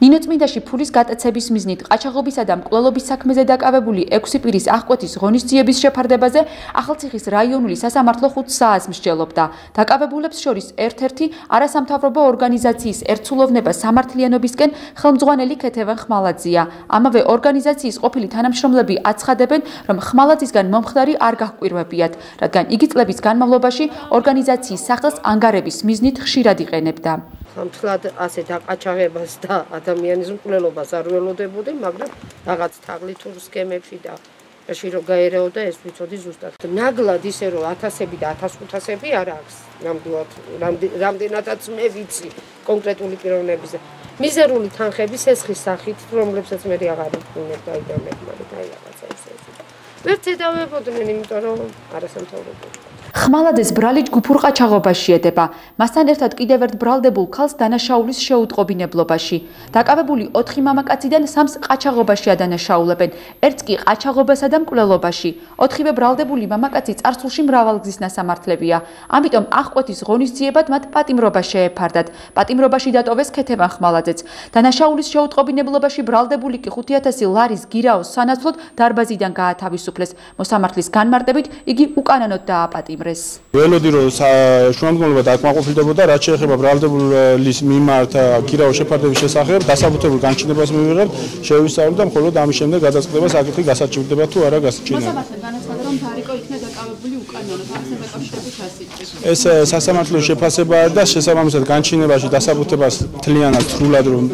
ნინო წმინდაში ფულის გატაცების მიზნით ყაჩაღობისა და მკვლელობის საქმეზე დაკავებული 6 პირის აღკვეთის ღონისძიების შეფარდებაზე ახალციხის რაიონული სასამართლო 5 საათს მსჯელობდა. დაკავებულებს შორის ერთ-ერთი არასამთავრობო ორგანიზაციის ერთსულოვნება სამართლიანობისკენ ხელმძღვანელი ქეთევან ხმალაძეა. ამავე ორგანიზაციის ყოფილი თანამშრომლები აცხადებენ, რომ ხმალაძისგან მომხდარი არ გაჰკვირვებიათ, რადგან იგი წლების განმავლობაში ორგანიზაციის სახელს ანგარების მიზნით ხშირად იყენებდა. Მთლად ასე დაყაჩაღებას და ადამიანის მკვლელობას არ ველოდებოდი, მაგრამ რაღაც თაღლითურ სქემებში დააში რომ გაერეოდა ეს ვიცოდი ზუსტად. ნაგლად ისე რომ 1000-ები და 1500-ები არ აქვს. რამდენადაც მე ვიცი კონკრეტული პიროვნების მიზერული თანხების ესხის სახით, რომლებსაც მე აღარ ვქონებ დაიდამებმა და რაღაცა ესე. ვერც ედავებოდნენ, იმიტომ რომ არასამთავრობო. ხმალაძეს ბრალი ჯგუფურ ყაჩაღობაში ედება. მასთან ერთად კიდევ ერთ ბრალდებულ ქალს დანაშაულის შეუტყობინებლობაში. დაკავებული 4 მამაკაციდან 3-ს ყაჩაღობაშია დანაშაულებენ, ერთს კი ყაჩაღობასა და მკვლელობაში. 4-ვე ბრალდებული მამაკაცი წარსულში მრავალგზის ნასამართლებია. ამიტომ აღკვეთის ღონისძიებად მათ პატიმრობა შეეფარდათ. პატიმრობაში დატოვეს ქეთევან ხმალაძეც. დანაშაულის შეუტყობინებლობაში ბრალდებული კი 5000 ლარის გირაოს სანაცვლოდ დარბაზიდან გაათავისუფლეს. მოსამართლის განმარტებით იგი უკანონოდ დააპატიმრეს. ველოდი რომ შუამდგომლობა დაკმაყოფილდებოდა, რაც შეეხება ბრალდებულის მიმართ გირაოს შეფარდების შესახებ, დასაბუთებულ განჩინებას მივიღებთ, შევისწავლეთ და მხოლოდ ამის შემდეგ გადაწყვეტება საკითხი გასაჩივრდება თუ არა გასაჩივრდება. მოსამართლე განაცხადა, რომ დარიკო იქნა დაკავებული უკანონოდ, ასე დაკავშირებით ასიც. ეს სასამართლოს შეფასებაა და შესაბამისად განჩინებაში დასაბუთებას თლიანად სრულად რომ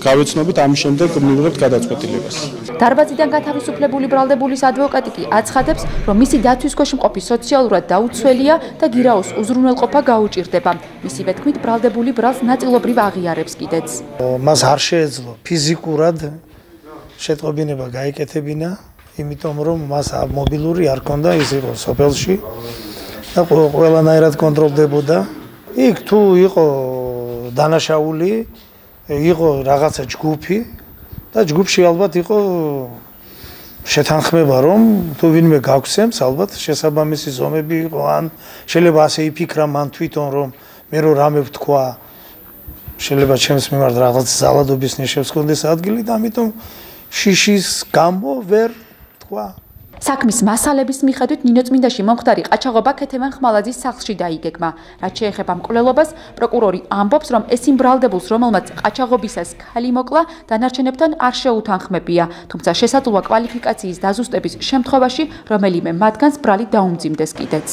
გავეცნობით, ამის შემდეგ მივიღებთ გადაწყვეტილებას. დარბაზიდან გათავისუფლებული ბრალდებულის ადვოკატი კი აცხადებს, რომ მისი დაცვის ქვეშ მყოფი სოციალურად დაუცველია და გირაოს უზრუნველყოფა გაუჭირდება. მისივე თქმით, ბრალდებული ბრალს ნაწილობრივ აღიარებს კიდეც. მას არ შეეძლო ფიზიკურად შეტყობინება გაიკეთებინა, იმიტომ რომ მას მობილური არ ჰქონდა, ის იყო სოფელში და ყველანაირად კონტროლდებოდა. იქ თუ იყო დანაშაული, იყო რაღაცა ჯგუფი და ჯგუფში ალბათ იყო შეთანხმება, რომ თუ ვინმე გაგვცემს, ალბათ შესაბამისი ზომები იყო, ან შეიძლება ასე იფიქრა მან თვითონ, რომ მე რო რამე ვთქვა, შეიძლება ჩემს მიმართ რაღაც ზალადობის ნიშნებს ჰქონდეს ადგილი და ამიტომ შიშის გამო ვერ თქვა. საქმის მასალების მიხედვით ნინო წმინდაში მომხდარი ყაჩაღობა ქეთევან ხმალაძის სახლში დაიგეგმა. რაც შეეხება მკვლელობას, პროკურორი ამბობს, რომ ეს იმ ბრალდებულს, რომელმაც ყაჩაღობისას ქალი მოკლა, დანარჩენებთან არ შეუთანხმებია, თუმცა შესაძლოა კვალიფიკაციის დაზუსტების შემთხვევაში რომელიმე მათგანს ბრალი დაუმძიმდეს კიდეც.